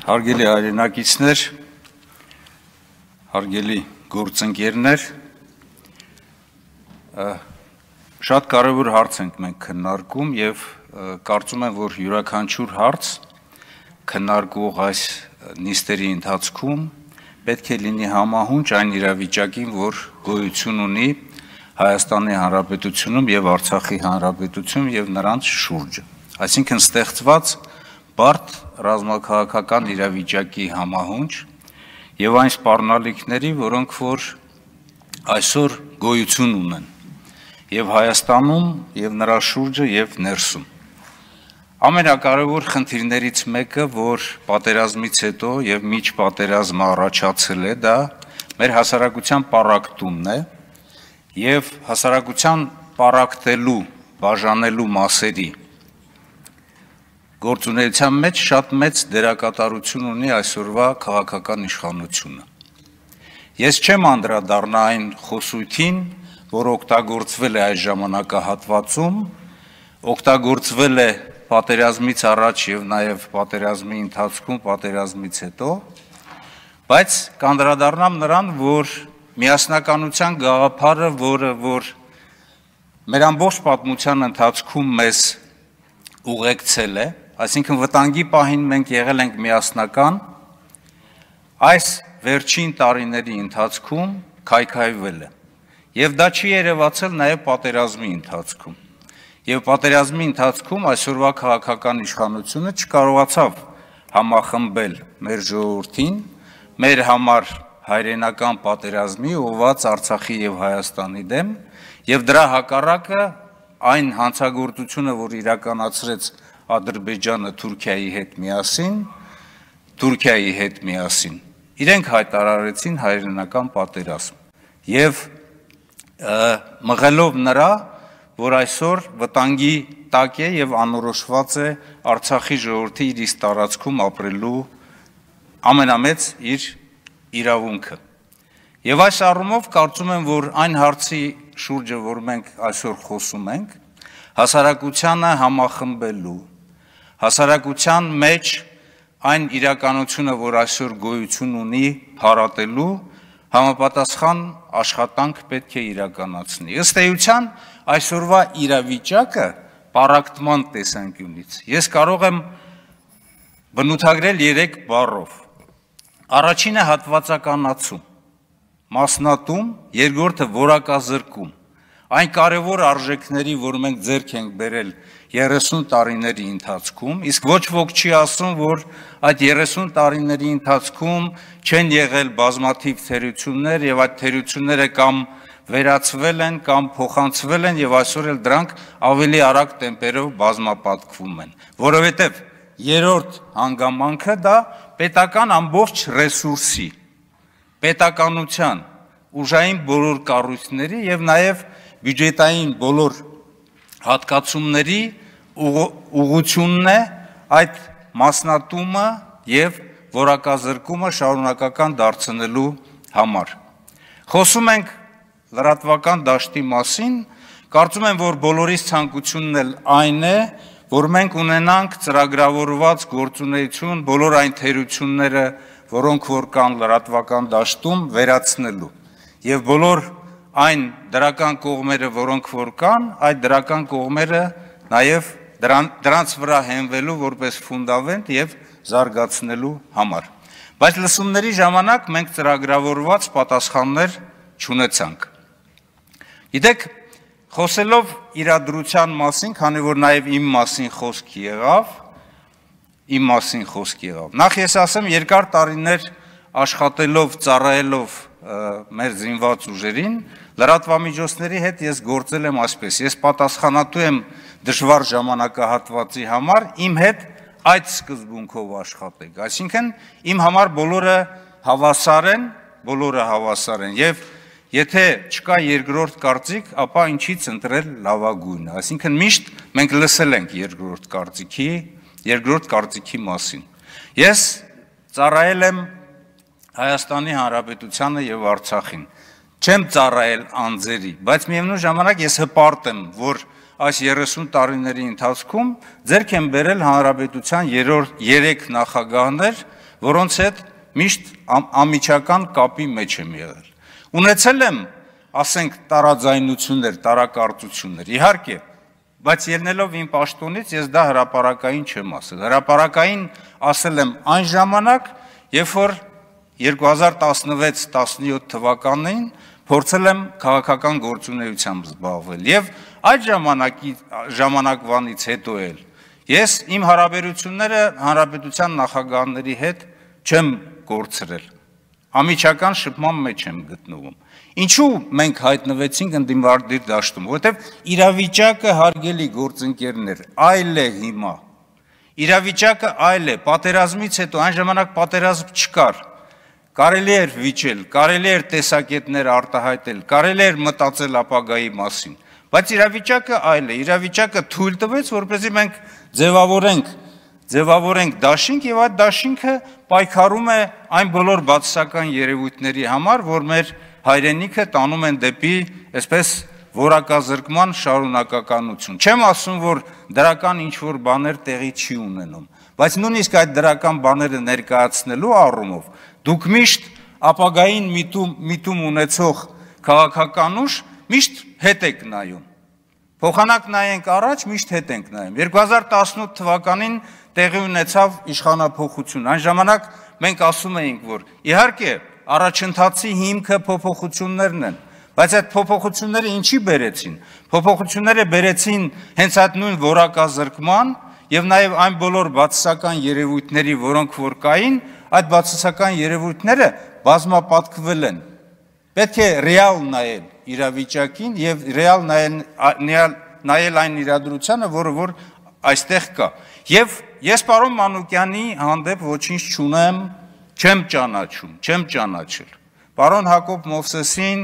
Հարգելի հայրենակիցներ, հարգելի գործընկերներ, շատ կարևոր հարց ենք մենք քննարկում եւ կարծում եմ, որ յուրաքանչյուր հարց քննարկող այս նիստերի ընթացքում պետք է լինի համահունչ այն իրավիճակին, որ գոյություն ունի Հայաստանի Հանրապետությունում եւ Արցախի Հանրապետությունում եւ նրանց շուրջը, այսինքն ստեղծված բարդ ռազմաքաղաքական իրավիճակի համահունչ եւ այն սպառնալիքների, որոնք որ այսօր գոյություն ունեն եւ Հայաստանում եւ նրա շուրջը եւ ներսում։ Ամենակարևոր խնդիրներից մեկը, որ պատերազմից հետո եւ միջ պատերազմը առաջացել է, դա մեր հասարակության պառակտումն է եւ հասարակության պառակտելու, բաժանելու մասերի գործունեության մեջ շատ մեծ դերակատարություն ունի այսօրվա քաղաքական իշխանությունը։ Ես չեմ անդրադառնա այն խոսույթին, որ օգտագործվել է այս ժամանակահատվածում, օգտագործվել է պատերազմից առաջ եւ նաեւ պատերազմի ընթացքում, պատերազմից հետո, բայց կանդրադառնամ նրան, որ միասնականության գաղափարը, որ մեր ամբողջ պատմության ընթացքում մեզ ուղեկցել է, այսինքն վտանգի պահին մենք եղել ենք միասնական, այս վերջին տարիների ընթացքում քայքայվել է։ Եվ դա չի երևացել նաև պատերազմի ընթացքում։ Եվ պատերազմի ընթացքում այսօրվա քաղաքական իշխանությունը չկարողացավ համախմբել մեր ժողովրդին, մեր համար հայրենական պատերազմի ուղղված Արցախի եւ Հայաստանի դեմ, եւ դրա հակառակը այն հանցագործությունը, որ իրականացրեց Ադրբեջանը Թուրքիայի հետ միասին, իրենք հայտարարեցին հայրենական պատերազմ եւ մղելով նրա, որ այսօր վտանգի տակ է եւ անորոշված է Արցախի ժողովրդի իր իսկ տարածքում ապրելու ամենամեծ իր իրավունքը։ Եվ այս առումով կարծում եմ, որ այն հարցի շուրջը, որ մենք այսօր խոսում ենք, հասարակությանը համախմբելու, հասարակության մեջ այն իրականությունը, որ այսօր գոյություն ունի, հարատելու համապատասխան աշխատանք պետք է իրականացնի։ Ըստ էության այսօրվա իրավիճակը պառակտման տեսանկյունից ես կարող եմ բնութագրել 3 բառով։ Առաջինը հատվածականացում, մասնատում, երկրորդը որակազրկում։ Այն կարևոր արժեքների, որ մենք ձեռք ենք բերել 30 տարիների ընթացքում, իսկ ոչ ոք չի ասում, որ այդ 30 տարիների ընթացքում չեն եղել բազմաթիվ թերություններ եւ այդ թերությունները կամ վերացվել են կամ փոխանցվել են եւ այսօր էլ դրանք ավելի արագ տեմպերով բազմապատկվում են, որովհետեւ երրորդ հանգամանքը դա պետական ամբողջ ռեսուրսի, պետականության, ուժային բոլոր կառույցների եւ նաեւ բյուջետային բոլոր հատկացումների ուղղությունն է այդ մասնատումը եւ որակազրկումը շարունակական դարձնելու համար։ Խոսում ենք լրատվական դաշտի մասին, կարծում եմ, որ բոլորիս ցանկությունն էլ այն է, որ մենք ունենանք ծրագրավորված գործունեություն բոլոր այն թերությունները, որոնք որ կան լրատվական դաշտում, վերացնելու եւ բոլոր այն դրական կողմերը, որոնք որ կան, այդ դրական կողմերը նաեւ դրանց վրա հենվելու որպես ֆունդամենտ եւ զարգացնելու համար։ Բայց լսումների ժամանակ մենք ծրագրավորված պատասխաններ չունեցանք։ Գիտեք, խոսելով իրադրության մասին, քանի որ նաեւ իմ մասին խոսք եղավ, նախ ես ասեմ, երկար տարիներ աշխատելով, ծառայելով մեր զինված ուժերին, լրատվամիջոցների հետ ես գործել եմ այսպես, ես պատասխանատու եմ դժվար ժամանակահատվածի համար, իմ հետ այդ սկզբունքով աշխատեք, այսինքն իմ համար բոլորը հավասար են եւ եթե չկա երկրորդ կարծիք, ապա ինչից ընտրել լավագույնը, այսինքն միշտ մենք լսել ենք երկրորդ կարծիքի մասին։ Ես ծառայել եմ Հայաստանի Հանրապետությանը եւ Արցախին, չեմ ծառայել անձերի, բայց միևնույն ժամանակ ես հպարտ եմ, որ այս 30 տարիների ընթացքում ձեռք են բերել հանրապետության 3 նախագահներ, որոնց հետ միշտ ամիջական կապի մեջ եմ եղել։ Ունեցել եմ, ասենք, տարաձայնություններ, տարակարծություններ, իհարկե, բայց ելնելով իմ պաշտոնից ես դա հրապարակային չեմ ասել։ Հրապարակային ասել եմ այն ժամանակ, երբ որ 2016-17 թվականին փորձել եմ քաղաքական գործունեությամբ զբաղվել եւ այդ ժամանակվանից հետո էլ ես իմ հարաբերությունները հանրապետության նախագահների հետ չեմ կորցրել, ամիջական շփման մեջ եմ գտնվում։ Ինչու մենք հայտնվեցինք ընդդիմադիր դաշտում, որովհետեւ իրավիճակը, հարգելի գործընկերներ, այլ է հիմա։ Իրավիճակը այլ է, պատերազմից հետո այն ժամանակ պատերազմ չկար։ Կարելի էր վիճել, կարելի էր տեսակետներ արտահայտել, կարելի էր մտածել ապագայի մասին, բայց իրավիճակը այլ է, իրավիճակը թույլ տվեց, որպեսզի մենք ձևավորենք դաշինք եւ այդ դաշինքը պայքարում է այն բոլոր բացասական երևույթների համար, որ մեր հայրենիքը տանում են դեպի, այսպես, որակազրկման շարունակականություն։ Չեմ ասում, որ դրական ինչ-որ բաներ տեղի չի ունենում, բայց նույնիսկ այդ դրական բաները ներկայացնելու առումով դուք միշտ ապագային միտում ունեցող քաղաքական ուժ միշտ հետ եք նայում։ Փոխանակ նայենք առաջ, միշտ հետ ենք նայում։ 2018 թվականին տեղի ունեցավ իշխանափոխություն։ Այն ժամանակ մենք ասում էինք, որ իհարկե առաջընթացի հիմքը փոփոխություններն են, բայց այդ փոփոխությունները ինչի բերեցին։ Փոփոխությունները բերեցին հենց այդ նույն որակազրկման եւ նաեւ այն բոլոր բացասական երևույթների, որոնք որ կային, այդ բացասական երևույթները բազմապատկվել են։ Պետք է ռեալ նայել իրավիճակին եւ ռեալ նայել այն իրադրությանը, որը որ այստեղ կա։ Եվ ես պարոն Մանուկյանի հանդեպ ոչինչ չունեմ, չեմ ճանաչել։ Պարոն Հակոբ Մովսեսին,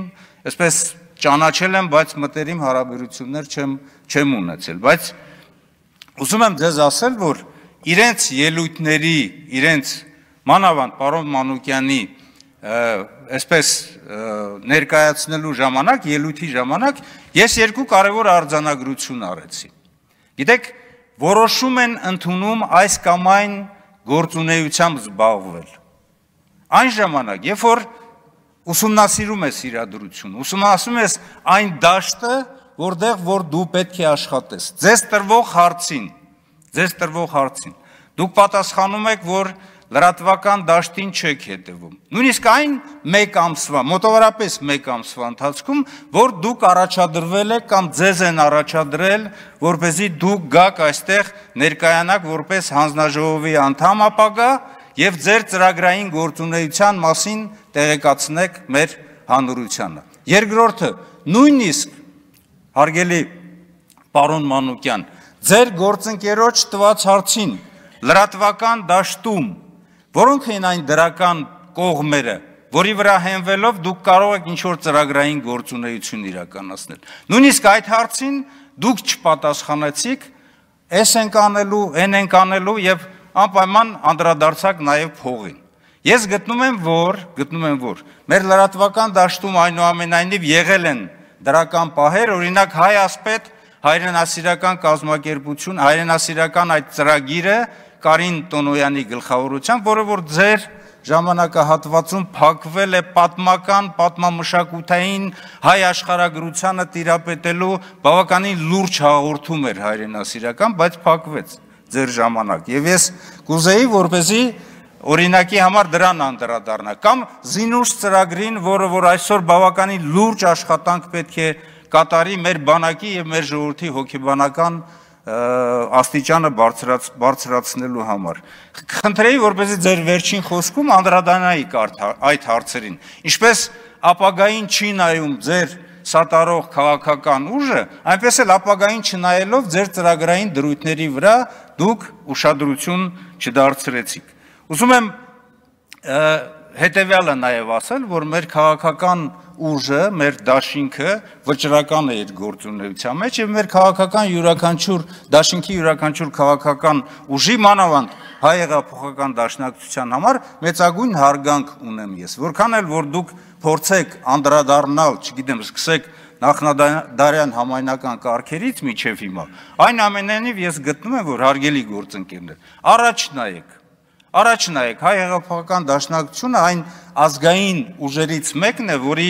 այսպես ճանաչել եմ, բայց մտերիմ հարաբերություններ չեմ ունեցել, բայց ուզում եմ ձեզ ասել, որ իրենց ելույթների, իրենց մանավանդ պարոն Մանուկյանի այսպես ներկայացնելու ժամանակ, ելույթի ժամանակ ես երկու կարևոր արձանագրություն արեցի։ Գիտեք, որոշում են ընդունում այս կամ այն գործունեությամբ զբաղվել։ Այն ժամանակ, երբ որ ուսումնասիրում ես իրադրություն, ուսումնասիրում ես այն դաշտը, որտեղ որ դու պետք է աշխատես, ձեզ տրվող հարցին, դուք պատասխանում եք, որ լրատվական դաշտին չեք հետևում։ Նույնիսկ այն մեկ ամսվա, մոտավորապես մեկ ամսվա ընթացքում, որ դուք առաջադրվել եք կամ ձեզ են առաջադրել, որպեսզի դուք գաք այստեղ ներկայանաք որպես հանձնաժողովի անդամ ապագա եւ ձեր ծրագրային գործունեության մասին տեղեկացնեք մեր հանրությանը։ Երկրորդը, նույնիսկ հարգելի պարոն Մանուկյան, ձեր գործընկերոջ տված հարցին լրատվական դաշտում որոնք են այն դրական կողմերը, որի վրա հենվելով դուք կարող եք ինչ-որ ծրագրային գործունեություն իրականացնել։ Նույնիսկ այդ հարցին դուք չպատասխանեցիք, էս ենք անելու, են ենք անելու եւ անպայման անդրադարձակ նաեւ փողին։ Ես գտնում եմ, որ մեր լրատվական դաշտում այնուամենայնիվ եղել են դրական պահեր, օրինակ Հայ ասպետ, հայրենասիրական կազմակերպություն, հայրենասիրական այդ ծրագիրը Կարին Տոնոյանի գլխավորությամբ, որը որ ձեր ժամանակահատվածում փակվել է պատմամշակութային հայ աշխարհագրությանը տիրապետելու բավականին լուրջ հաղորդում էր հայրենասիրական, բայց փակվեց ձեր ժամանակ։ Եվ ես կուզեի, որպեսզի օրինակի համար դրան անդրադառնա, կամ Զինուշ ծրագրին, որը որ այսօր բավականին լուրջ աշխատանք պետք է կատարի մեր բանակի եւ մեր ժողովրդի հոգեբանական աստիճանը բարձրացնելու համար։ Խնդրեի, որպեսզի ձեր վերջին խոսքում անդրադառնայիք այդ հարցերին։ Ինչպես ապագային չի նայում ձեր սատարող քաղաքական ուժը, այնպես էլ ապագային չնայելով ձեր ծրագրային դրույթների վրա դուք ուշադրություն չդարձրեցիք։ Ուզում եմ հետևյալը նաև ասել, որ մեր քաղաքական ուժը, մեր դաշինքը վճռական է իր գործունեության մեջ եւ մեր քաղաքական յուրաքանչյուր դաշինքի յուրաքանչյուր քաղաքական ուժի մանավանդ հայ հեղափոխական դաշնակցության համար մեծագույն հարգանք ունեմ ես։ Որքան էլ որ դուք փորձեք անդրադառնալ, չգիտեմ, սկսեք նախնադարյան համայնական կարգերից միջև հիմա, այն ամենայնիվ ես գտնում եմ, որ հարգելի գործընկերներ, առաջ նայեք, հայ հեղափոխական դաշնակցությունը այն ազգային ուժերից մեկն է, որի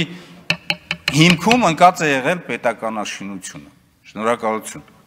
հիմքում ընկած է եղել պետականաշինությունը։ Շնորհակալություն։